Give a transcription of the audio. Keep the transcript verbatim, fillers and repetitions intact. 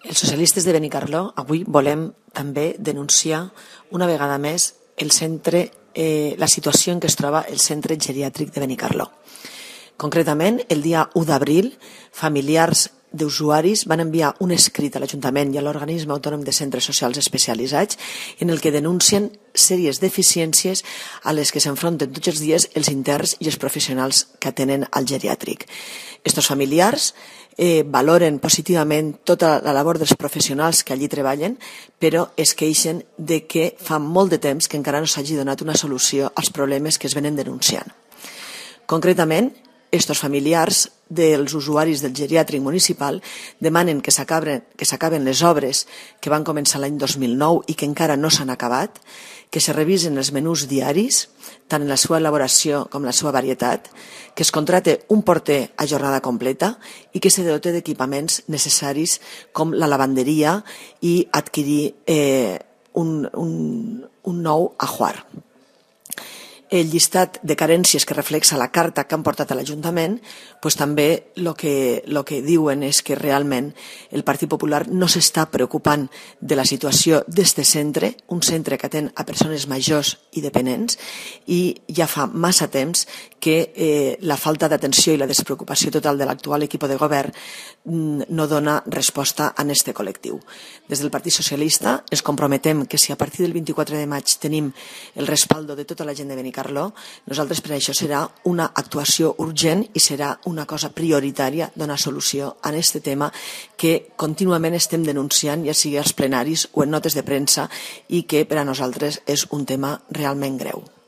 Els socialistes de Benicarló avui volem també denunciar una vegada més el centre, eh, la situació en què es troba el centre geriàtric de Benicarló. Concretament, el dia u d'abril, familiars d'usuaris van enviar un escrit a l'Ajuntament i a l'Organisme Autònom de Centres Socials Especialitzats en el que denuncien sèries deficiències a les que s'enfronten tots els dies els interns i els professionals que atenen al geriàtric. Estos familiars eh, valoren positivament tota la labor dels professionals que allí treballen, però es queixen de que fa molt de temps que encara no s'hagi donat una solució als problemes que es venen denunciant. Concretament, estos familiars dels usuaris del geriàtric municipal demanen que s'acaben que s'acaben les obres que van començar l'any dos mil nou i que encara no s'han acabat, que se revisen els menús diaris, tant en la seva elaboració com en la seva varietat, que es contrate un porter a jornada completa i que se dote d'equipaments necessaris com la lavanderia i adquirir eh, un, un, un nou ajuar. El llistat de carències que reflexa la carta que han portat a l'Ajuntament, pues també el que, lo que diuen és que realment el Partit Popular no s'està preocupant de la situació d'este centre, un centre que atén a persones majors i dependents, i ja fa massa temps que eh, la falta d'atenció i la despreocupació total de l'actual equip de govern mm, no dona resposta a este col·lectiu. Des del Partit Socialista ens comprometem que si a partir del vint-i-quatre de maig tenim el respaldo de tota la gent de Benicarló, nosaltres per això serà una actuació urgent i serà una cosa prioritària donar solució a aquest tema que contínuament estem denunciant, ja sigui als plenaris o en notes de premsa, i que per a nosaltres és un tema realment greu.